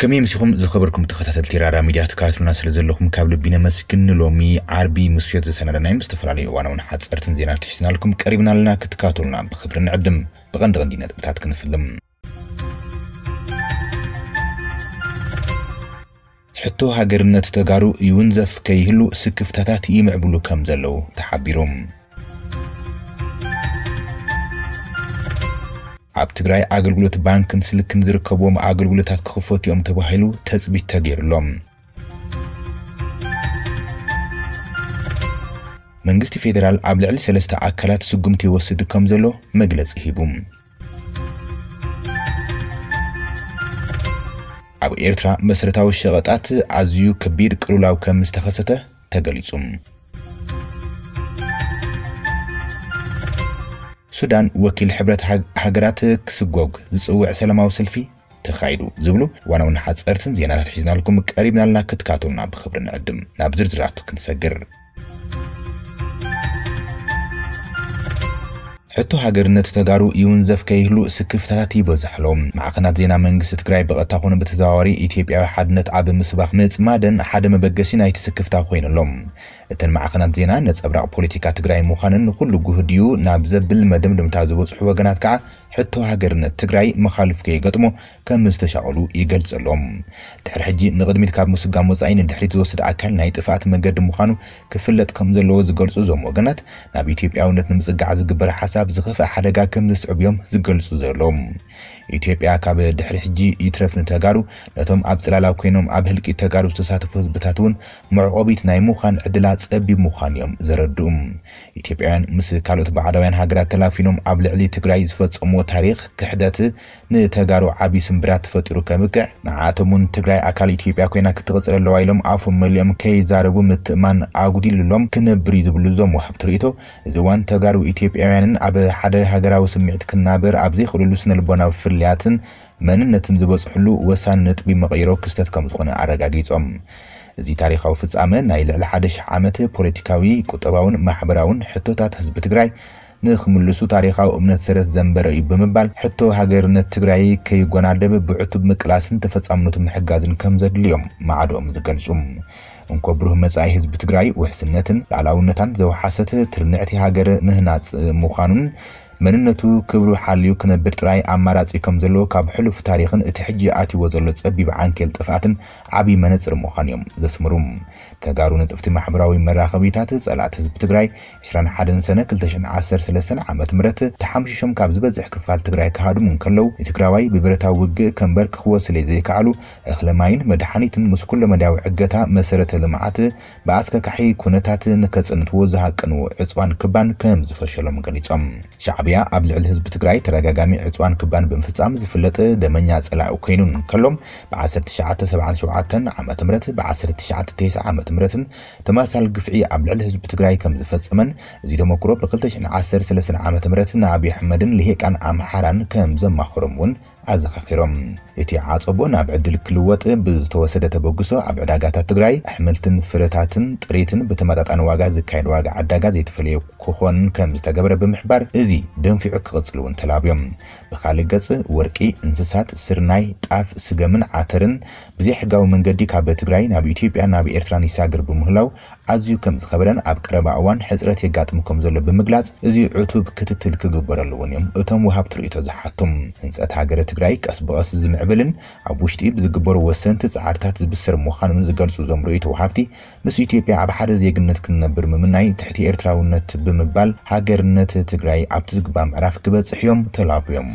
ከመይ ምሲኹም ዝኸበርኩም ተኸታተልቲ ራራ ሚድያ ትከታተሉና ስለ ዘለኹም ካብ ልቢ ነመስግን። ንሎሚ ዓርቢ ምሱዮት ዘሰናዳናዮም ዝተፈላለዩ እዋናውን ሓፀርትን ዜና ትሒዝናልኩም ቀሪብና ኣለና። ክትከታተሉና ብኽብሪ ንዕድም። ብቐንዲ ቀንዲ ነጥብታት ክንፍልም። ሕቶ ሃገርነት ተጋሩ ይውንዘፍ ከይህሉ ስክፍታታት ይምዕብሉ ከም ዘለዉ ተሓቢሩ። ኣብ ትግራይ ኣገልግሎት ባንክን ስልክን ዝርከብዎም ኣገልግሎታት ክኽፈቱ እዮም ተባሂሉ ተፅቢት ተገይሩሎም። መንግስቲ ፌደራል ኣብ ልዕሊ ሰለስተ ኣካላት ስጉምቲ ይወስድ ከም ዘሎ መግለፂ ሂቡ። ኣብ ኤርትራ መሰረታዊ ሸቐጣት ኣዝዩ ከቢድ ቅልውላው ከም ዝተኸሰተ ተገሊጹ። ሱዳን ወኪል ሕብረት ሃግ-፣ ሃገራት ክስጎግ ዝጽውዕ ሰላማዊ ሰልፊ ተኻይዱ ዝብሉ ዋና ዋና ሓጸርትን ዜናታት ሒዝናልኩም ቀሪብናልና፣ ክትካቱልና ብኽብሪ ንዕድም። ናብ ዝርዝራቱ ክንሰግር። ሕቶ ሃገርነት ተጋሩ ይውንዘፍ ከይህሉ ስክፍታታት ይበዝሕ ኣሎ። ማዕኸናት ዜና መንግስቲ ትግራይ ብቐጥታ ኮነ ብተዘዋዋሪ ኢትዮጵያዊ ሓድነት ኣብ ምስባኽ ምጽማደን ሓደ መበገሲ ናይቲ ስክፍታ ኮይኑ ኣሎ። እተን ማዕኸናት ዜና ነጸብራቕ ፖለቲካ ትግራይ ምዃነን ንኹሉ ጉህድ እዩ ናብ ዘብል መደምደምታ ዝበጽሑ ወገናት ከዓ ሕቶ ሃገርነት ትግራይ መኻልፍ ከይገጥሞ ከም ዝተሻቐሉ ይገልጹ ኣለዉ። ድሕሪ ሕጂ ንቕድሚት ካብ ምስጋም ወጻኢ ንድሕሪት ዝወስድ ኣካል ናይ ጥፍኣት መገዲ ምዃኑ ክፍለጥ ከም ዘለዎ ዝገልጹ እዞም ወገናት፣ ናብ ኢትዮጵያውነት ንምጽጋዕ ዝግበር ሓሳብ ዝኸፍአ ሓደጋ ከም ዘስዕብ እዮም ዝገልጹ ዘለዉ። ኢትዮጵያ ካብ ድሕሪ ሕጂ ይትረፍ ንተጋሩ፣ ነቶም ኣብ ጽላላ ኮይኖም ኣብ ህልቂት ተጋሩ ዝተሳተፉ ህዝብታት እውን መዕቆቢት ናይ ምዃን ዕድላ ጸቢብ ምዃኑ እዮም ዘረድኡ። ኢትዮጵያውያን ምስ ካልኦት ባዕዳውያን ሃገራት ተላፊኖም ኣብ ልዕሊ ትግራይ ዝፈጸምዎ ታሪኽ ክሕደት ንተጋሩ ዓቢ ስምብራት ተፈጢሩ ከብቅዕ፣ ንዓኣቶም እውን ትግራይ ኣካል ኢትዮጵያ ኮይና ክትቕጽል ኣለዋ ኢሎም ኣፎም መሊኦም ከይዛረቡ ምትእማን ኣጉዲሉሎም ክነብር እዩ ዝብሉ እዞም ወሃብቲ ርእይቶ፣ እዚ እዋን ተጋሩ ኢትዮጵያውያንን ኣብ ሓደ ሃገራዊ ስምዒት ክናበር ኣብ ዘይኽእልሉ ስነ ልቦናዊ ፍልልያትን መንነትን ዝበጽሕሉ ወሳኒ ነጥቢ መቐይሮ ክስተት ከም ዝኾነ ኣረጋጊጾም። እዚ ታሪኻዊ ፍጻመ ናይ ልዕሊ ሓደ ሽሕ ዓመት ፖለቲካዊ፣ ቁጠባውን ማሕበራውን ሕቶታት ህዝቢ ትግራይ ንኽምልሱ ታሪኻዊ እምነት ሰረት ዘንበረ እዩ ብምባል፣ ሕቶ ሃገርነት ትግራይ ከይጎናደብ ብዕቱብ ምቅላስን ተፈጻምነቱ ምሕጋዝን ከም ዘድልዮም ማዕዶኦም ዝገልጹ። እንኮ ብሩህ መጻኢ ህዝቢ ትግራይ ውሕስነትን ላዕላውነታን ዘውሓሰት ትርንዕቲ ሃገር ምህናጽ ምዃኑን መንነቱ ክብሩ ሓልዩ ክነብር ጥራይ ኣማራጺ ከም ዘለዎ ካብ ሕሉፍ ታሪኽን እቲ ሕጂ ኣትይዎ ዘሎ ጸቢብ ዓንኬል ጥፍኣትን ዓቢ መነጽር ምዃኑ እዮም ዘስምሩ። ተጋሩ ንጥፍቲ ማሕበራዊ መራኸቢታት ጸላእቲ ህዝቢ ትግራይ ዕስራን ሓደን ሰነ ክልተ ሽሕን ዓሰርተ ሰለስተን ዓመተ ምህረት ተሓምሺሾም ካብ ዝበዝሕ ክፋል ትግራይ ክሃድሙ እንከለዉ፣ ንትግራዋይ ብብረታዊ ውግእ ከንበርክኽዎ ስለ ዘይከኣሉ፣ እኽለ ማይን መድሓኒትን ምስ ኩለመዳያዊ ዕገታ መሰረተ ልምዓት ብኣስካካሒ ኩነታት ንከጽንትዎ ዝሃቀንዎ ዕጽዋን ክባን ከም ዝፈሸሎም ገሊጾም። ሻዕብያ ኣብ ልዕሊ ህዝቢ ትግራይ ተደጋጋሚ ዕጽዋን ክባን ብምፍጻም ዝፍለጥ ደመኛ ጸላኢ ኮይኑ እንከሎ፣ ብ ዓሰርተ ትሽዓተ ሰብዓን ሸውዓተን ዓመተ ምህረት፣ ብ ዓሰርተ ትሽዓተ ተስዓን ዓመተ ምህረትን ተመሳሳሊ ግፍዒ ኣብ ልዕሊ ህዝቢ ትግራይ ከም ዝፈጸመን፣ እዚ ተመክሮ ብ ክልተ ሽሕን ዓሰርተ ሰለስተን ዓመተ ምህረት ንኣብይ ኣሕመድን ልሂቃን ኣምሓራን ከም ዘማኸሮም እውን ኣዘኻኺሮም። እቲ ዓጸቦ ናብ ዕድል ክልወጥ ብዝተወሰደ ተበግሶ፣ ኣብ ዕዳጋታት ትግራይ ኣሕምልትን ፍረታትን ጥሪትን ብተመጣጣኒ ዋጋ ዝካየድ ዋጋ ዕዳጋ ዘይተፈለየ ክኾን ከም ዝተገብረ ብምሕባር፣ እዚ ደንፊዑ ክቕጽል እውን ተላብዮም። ብኻልእ ገጽ፣ ወርቂ፣ እንስሳት፣ ስርናይ፣ ጣፍ፣ ስገምን ዓተርን ብዘይሕጋዊ መንገዲ ካብ ትግራይ ናብ ኢትዮጵያ፣ ናብ ኤርትራን ይሳገር ብምህላው፣ ኣዝዩ ከም ዝኸበደን ኣብ ቀረባ እዋን ሕጽረት የጋጥም ከም ዘሎ ብምግላጽ፣ እዚ ዕቱብ ክትትል ክግበረሉ እውን እዮም እቶም ወሃብቲ ርእይቶ ዝሓቱ። ህንጸት ሃገረ ትግራይ ቀስ ብቐስ ዝምዕብልን ኣብ ውሽጢ ብዝግበሩ ወሰንቲ ጻዕርታት ዝብሰር ምዃኑን ዝገልጹ እዞም ርእይቶ ወሃብቲ፣ ምስ ኢትዮጵያ ኣብ ሓደ ዜግነት ክንነብር ምምናይ ትሕቲ ኤርትራውነት ብምባል ሃገርነት ትግራይ ኣብቲ ዝግባእ ምዕራፍ ክበጽሕ እዮም ተላብዮም።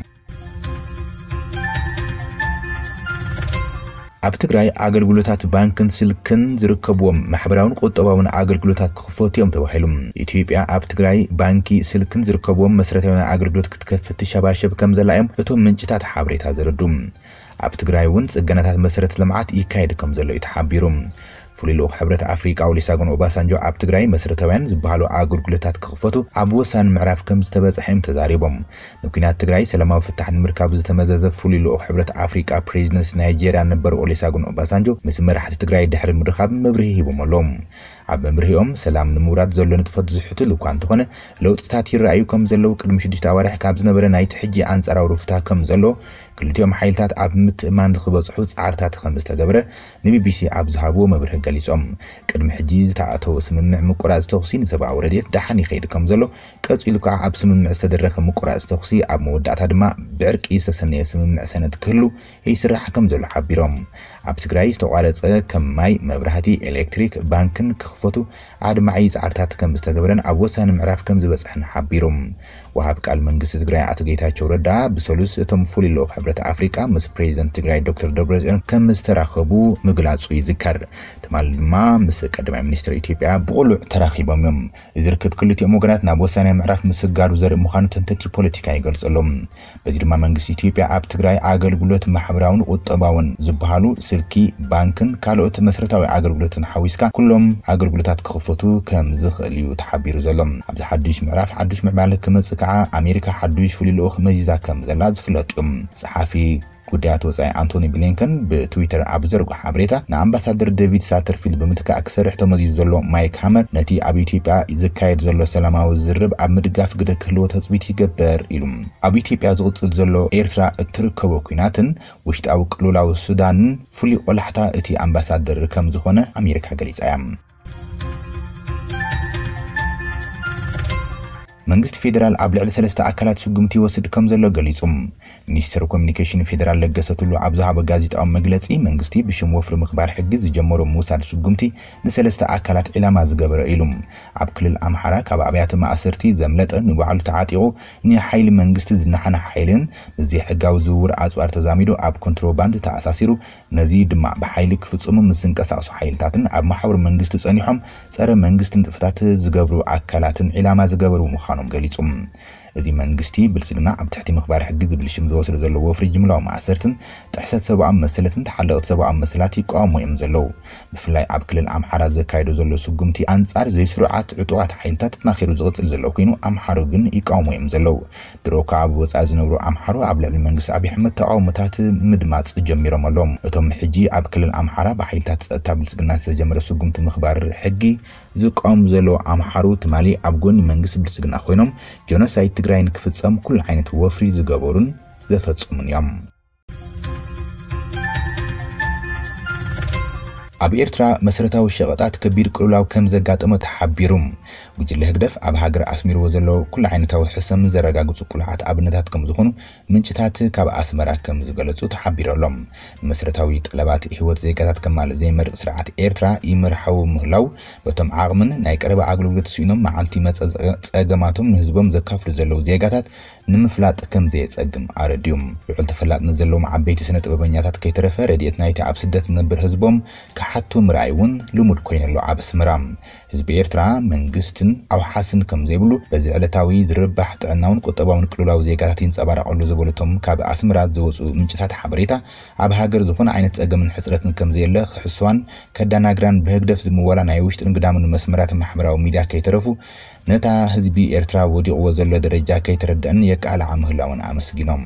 ኣብ ትግራይ ኣገልግሎታት ባንክን ስልክን ዝርከብዎም ማሕበራውን ቁጠባውን ኣገልግሎታት ክኽፈቱ እዮም ተባሂሉ። ኢትዮጵያ ኣብ ትግራይ ባንኪ ስልክን ዝርከብዎም መሰረታዊ ኣገልግሎት ክትከፍት ትሸባሸብ ከም ዘላ እዮም እቶም ምንጭታት ሓበሬታ ዘረዱ። ኣብ ትግራይ እውን ጽገናታት መሰረተ ልምዓት ይካየድ ከም ዘሎ እዩ ተሓቢሩ። ፍሉይ ልኡኽ ሕብረት ኣፍሪቃ ኦሊሳጎን ኦባሳንጆ ኣብ ትግራይ መሰረታውያን ዝበሃሉ ኣገልግሎታት ክኽፈቱ ኣብ ወሳኒ ምዕራፍ ከም ዝተበጽሐ እዮም ተዛሪቦም። ንኲናት ትግራይ ሰላማዊ ፍታሕ ንምርካብ ዝተመዘዘ ፍሉይ ልኡኽ ሕብረት ኣፍሪቃ ፕሬዚደንት ናይጄርያ ነበር ኦሊሳጎን ኦባሳንጆ ምስ መራሕቲ ትግራይ ድሕሪ ምርኻብ መብርሂ ሂቦም ኣለዉ። ኣብ መብርሂኦም፣ ሰላም ንምውራድ ዘሎ ንጥፈት ዝሕትል እኳ እንተኾነ፣ ለውጥታት ይረኣዩ ከም ዘለዉ፣ ቅድሚ ሽዱሽተ ኣዋርሕ ካብ ዝነበረ ናይቲ ሕጂ ኣንጻራዊ ሩፍታ ከም ዘሎ ክልቲኦም ሓይልታት ኣብ ምትእማን ንክበጽሑ ጻዕርታት ከም ዝተገብረ ንቢቢሲ ኣብ ዝሃብዎ መብርሂ ገሊጾም። ቅድሚ ሕጂ ዝተኣተወ ስምምዕ ምቁራጽ ተኹሲ ንሰብኣዊ ረድኤት ደሓን ይኸይድ ከም ዘሎ፣ ቀጺሉ ከኣ ኣብ ስምምዕ ዝተደረኸ ምቁራጽ ተኹሲ ኣብ መወዳእታ ድማ ብዕርቂ ዝተሰነየ ስምምዕ ሰነድ ክህሉ ይስራሕ ከም ዘሎ ሓቢሮም። ኣብ ትግራይ ዝተቋረጸ ከም ማይ፣ መብራህቲ፣ ኤሌክትሪክ፣ ባንክን ክኽፈቱ ኣድማዒ ጻዕርታት ከም ዝተገብረን ኣብ ወሳኒ ምዕራፍ ከም ዝበጽሐን ሓቢሩ። ወሃብ ቃል መንግስቲ ትግራይ ኣቶ ጌታቸው ረዳ ብሰሉስ እቶም ፍሉይ ልኡኽ ሕብረት ኣፍሪቃ ምስ ፕሬዚደንት ትግራይ ዶክተር ደብረጽዮን ከም ዝተራኸቡ ምግላጹ ይዝከር። ትማሊ ድማ ምስ ቀዳማይ ሚኒስትር ኢትዮጵያ ብቕሉዕ ተራኺቦም እዮም። እዚ ርክብ ክልቲኦም ወገናት ናብ ወሳናይ ምዕራፍ ምስጋሩ ዘርኢ ምዃኑ ተንተንቲ ፖለቲካ ይገልጹ ኣለዉ። በዚ ድማ መንግስቲ ኢትዮጵያ ኣብ ትግራይ ኣገልግሎት ማሕበራውን ቁጠባውን ዝበሃሉ ስልኪ፣ ባንክን ካልኦት መሰረታዊ ኣገልግሎትን ሓዊስካ ኩሎም ኣገልግሎታት ክኽፈቱ ከም ዝኽእል እዩ ተሓቢሩ ዘሎ። ኣብዚ ሓዱሽ ምዕራፍ ሓዱሽ ምዕባለ ክመጽእ ከዓ ኣሜሪካ ሓዱሽ ፍሉይ ልኡኽ መዚዛ ከም ዘላ ዝፍለጥ እዩ። ጸሓፊ ጉዳያት ወጻኢ ኣንቶኒ ብሊንከን ብትዊተር ኣብ ዘርግሖ ሓበሬታ፣ ንኣምባሳደር ዴቪድ ሳተርፊልድ ብምትካእ ክሰርሕ ተመዚዙ ዘሎ ማይክ ሃመር ነቲ ኣብ ኢትዮጵያ ዝካየድ ዘሎ ሰላማዊ ዝርርብ ኣብ ምድጋፍ ግደ ክህልዎ ትጽቢት ይገብር ኢሉ። ኣብ ኢትዮጵያ ዝቕጽል ዘሎ ኤርትራ እትርከቦ ኲናትን ውሽጣዊ ቅልውላው ሱዳንን ፍሉይ ቆላሕታ እቲ ኣምባሳደር ከም ዝኾነ ኣሜሪካ ገሊጻ እያ። መንግስቲ ፌደራል ኣብ ልዕሊ ሰለስተ ኣካላት ስጉምቲ ይወስድ ከም ዘሎ ገሊጹ። ሚኒስተር ኮሚኒኬሽን ፌደራል ለገሰ ቱሉ ኣብ ዝሃቦ ጋዜጣዊ መግለጺ፣ መንግስቲ ብሽም ወፍሪ ምኽባር ሕጊ ዝጀመሮ ምውሳድ ስጉምቲ ንሰለስተ ኣካላት ዒላማ ዝገበረ ኢሉ። ኣብ ክልል ኣምሓራ ካብ ኣብያተ ማእሰርቲ ዘምለጠ፣ ንባዕሉ ተዓጢቑ ንሓይሊ መንግስቲ ዝነሓነሐ ሓይልን ምስ ዘይሕጋዊ ዝውውር ኣጽዋር ተዛሚዱ ኣብ ኮንትሮባንድ ተኣሳሲሩ፣ ነዚ ድማ ብሓይሊ ክፍጽሙ ምስ ዝንቀሳቐሱ ሓይልታትን ኣብ መሓውር መንግስቲ ጸኒሖም ጸረ መንግስቲ ንጥፈታት ዝገብሩ ኣካላትን ዒላማ ዝገበሩ ምዃኖም ገሊጹ። እዚ መንግስቲ ብልጽግና ኣብ ትሕቲ ምኽባር ሕጊ ዝብል ሽም ዝወስዶ ዘሎ ወፍሪ ጅምላዊ ማእሰርትን ጥሕሰት ሰብኣዊ መሰለትን ተሓለቕቲ ሰብኣዊ መሰላት ይቃወሙ እዮም ዘለዉ። ብፍላይ ኣብ ክልል ኣምሓራ ዘካየዶ ዘሎ ስጉምቲ ኣንጻር ዘይስሩዓት ዕጡቓት ሓይልታት ተጠናኺሩ ዝቕጽል ዘሎ ኮይኑ፣ ኣምሓሩ ግን ይቃወሙ እዮም ዘለዉ። ድሮ ከኣ ኣብ ወጻኢ ዝነብሩ ኣምሓሩ ኣብ ልዕሊ መንግስቲ ኣብይ ኣሕመድ ተቃውሞታት ምድማጽ ጀሚሮም ኣለዉ። እቶም ሕጂ ኣብ ክልል ኣምሓራ ብሓይልታት ጸጥታ ብልጽግና ዝተጀመረ ስጉምቲ ምኽባር ሕጊ ዝቃወሙ ዘለዉ ኣምሓሩ ትማሊ ኣብ ጎኒ መንግስቲ ብልጽግና ኮይኖም ጀኖሳይድ ትግራይ ንክፍጸም ኩሉ ዓይነት ወፍሪ ዝገበሩን ዘፈጸሙን እዮም። ኣብ ኤርትራ መሰረታዊ ሸቐጣት ከቢድ ቅልውላው ከም ዘጋጠመ ተሓቢሩ። ጉጅለ ህግደፍ ኣብ ሃገር ኣስሚርዎ ዘሎ ኩሉ ዓይነታዊ ሕሰም ዘረጋግጹ ቅሉዓት ኣብነታት ከም ዝኾኑ ምንጭታት ካብ ኣስመራ ከም ዝገለጹ ተሓቢሩ ኣሎ። ንመሰረታዊ ጠለባት ህይወት ዜጋታት ከማልእ ዘይመርጽ ስርዓት ኤርትራ ይመርሓዊ ምህላው፣ በቶም ዓቕምን ናይ ቀረባ ኣገልግሎት ስኢኖም መዓልቲ መጸ ጸገማቶም ንህዝቦም ዘካፍሉ ዘለዉ ዜጋታት ንምፍላጥ ከም ዘየጸግም ኣረድዩ። ልዑል ተፈላጥነት ዘለዎም ዓበይቲ ስነ ጥበበኛታት ከይተረፈ ረድኤት ናይቲ ኣብ ስደት ዝነብር ህዝቦም ክሓቱ ምርኣይ እውን ልሙድ ኮይኑ ኣሎ ኣብ ኣስመራ። ህዝቢ ኤርትራ መንግስትን ኣውሓስን ከም ዘይብሉ በዚ ዕለታዊ ዝርባሕ ጥዕናውን ቁጠባውን ቅልውላው ዜጋታት ይንጸባረቕ ኣሎ ዝበሉ እቶም ካብ ኣስመራ ዝወጹ ምንጭታት ሓበሬታ፣ ኣብ ሃገር ዝኾነ ዓይነት ጸገምን ሕጽረትን ከም ዘየለ ክሕስዋን ከዳናግራን ብህግደፍ ዝምወላ ናይ ውሽጥን ግዳምን መስመራት ማሕበራዊ ሚድያ ከይተረፉ ነታ ህዝቢ ኤርትራ ወዲቕዎ ዘሎ ደረጃ ከይተረድአን የቃልዓ ምህላወን ኣመስጊኖም።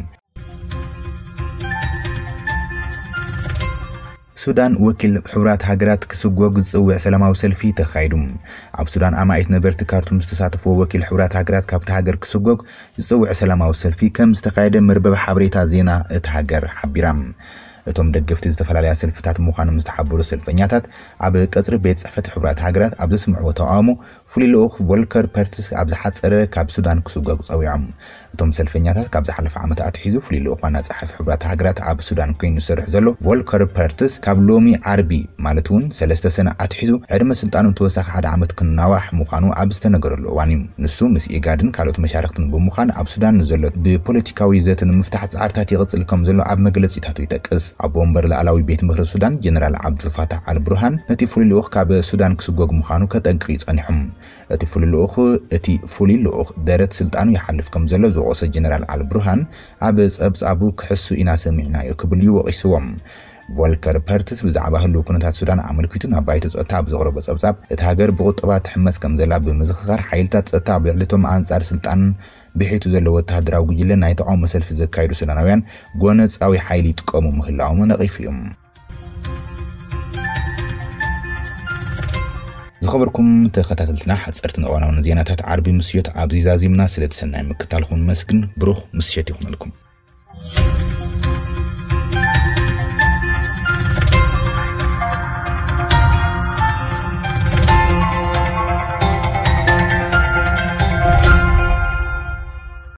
ሱዳን ወኪል ሕቡራት ሃገራት ክስጎግ ዝጽውዕ ሰላማዊ ሰልፊ ተኻይዱ። ኣብ ሱዳን ኣማኢት ነበርቲ ካርቱም ዝተሳተፍዎ ወኪል ሕቡራት ሃገራት ካብቲ ሃገር ክስጎግ ዝጽውዕ ሰላማዊ ሰልፊ ከም ዝተኻየደ መርበብ ሓበሬታ ዜና እታ ሃገር ሓቢራ። እቶም ደገፍቲ ዝተፈላለያ ሰልፍታት ምዃኖም ዝተሓበሩ ሰልፈኛታት ኣብ ቀጽሪ ቤት ጽሕፈት ሕቡራት ሃገራት ኣብ ዘስምዕዎ ተቃውሞ ፍሉይ ልኡኽ ቮልከር ፐርትስ ኣብ ዝሓጸረ ካብ ሱዳን ክስጎግ ጸዊዖም። እቶም ሰልፈኛታት ካብ ዝሓለፈ ዓመት ኣትሒዙ ፍሉይ ልኡኽ ዋና ጸሓፊ ሕቡራት ሃገራት ኣብ ሱዳን ኮይኑ ዝሰርሕ ዘሎ ቮልከር ፐርትስ ካብ ሎሚ ዓርቢ ማለት እውን ሰለስተ ሰነ ኣትሒዙ ዕድመ ስልጣኑ ተወሳኺ ሓደ ዓመት ክናዋሕ ምዃኑ ኣብ ዝተነገረሉ እዋን እዩ። ንሱ ምስ ኢጋድን ካልኦት መሻርክትን ብምዃን ኣብ ሱዳን ንዘሎ ብፖለቲካዊ ዘተ ንምፍታሕ ጻዕርታት ይቕጽል ከም ዘሎ ኣብ መግለጺታቱ ይጠቅስ። ኣቦ ወንበር ላዕላዊ ቤት ምኽሪ ሱዳን ጀነራል ዓብዱልፋታሕ ኣልብርሃን ነቲ ፍሉይ ልኡኽ ካብ ሱዳን ክስጎግ ምዃኑ ከጠንቅቕ ጸኒሑ። እቲ ፍሉይ ልኡኽ እቲ ፍሉይ ልኡኽ ደረት ስልጣኑ ይሓልፍ ከም ዘሎ ዝወቐሰ ጀነራል ኣልብርሃን ኣብ ጸብጻቡ ክሕሱ ኢና ሰሚዕናዮ ክብል እዩ ወቒስዎም። ቮልከር ፐርትስ ብዛዕባ ህልው ኩነታት ሱዳን ኣመልኪቱ ናብ ባይቶ ጸጥታ ኣብ ዘቕረቦ ጸብጻብ፣ እታ ሃገር ብቁጠባ ትሕመስ ከም ዘላ ብምዝኽኻር፣ ሓይልታት ጸጥታ ኣብ ልዕሊ እቶም ኣንጻር ስልጣን ብሒቱ ዘሎ ወተሃደራዊ ጉጅለ ናይ ተቓውሞ ሰልፊ ዘካየዱ ሱዳናውያን ጎነጻዊ ሓይሊ ይጥቀሙ ምህላዎም ነቒፉ እዩ። ዝኸበርኩም ተኸታተልትና፣ ሓጸርትን እዋናውን ዜናታት ዓርቢ ምስዮት ኣብዚ ዛዚምና። ስለ እቲ ሰናይ ምክታልኩም ነመስግን። ብሩኽ ምሽት ይኹነልኩም።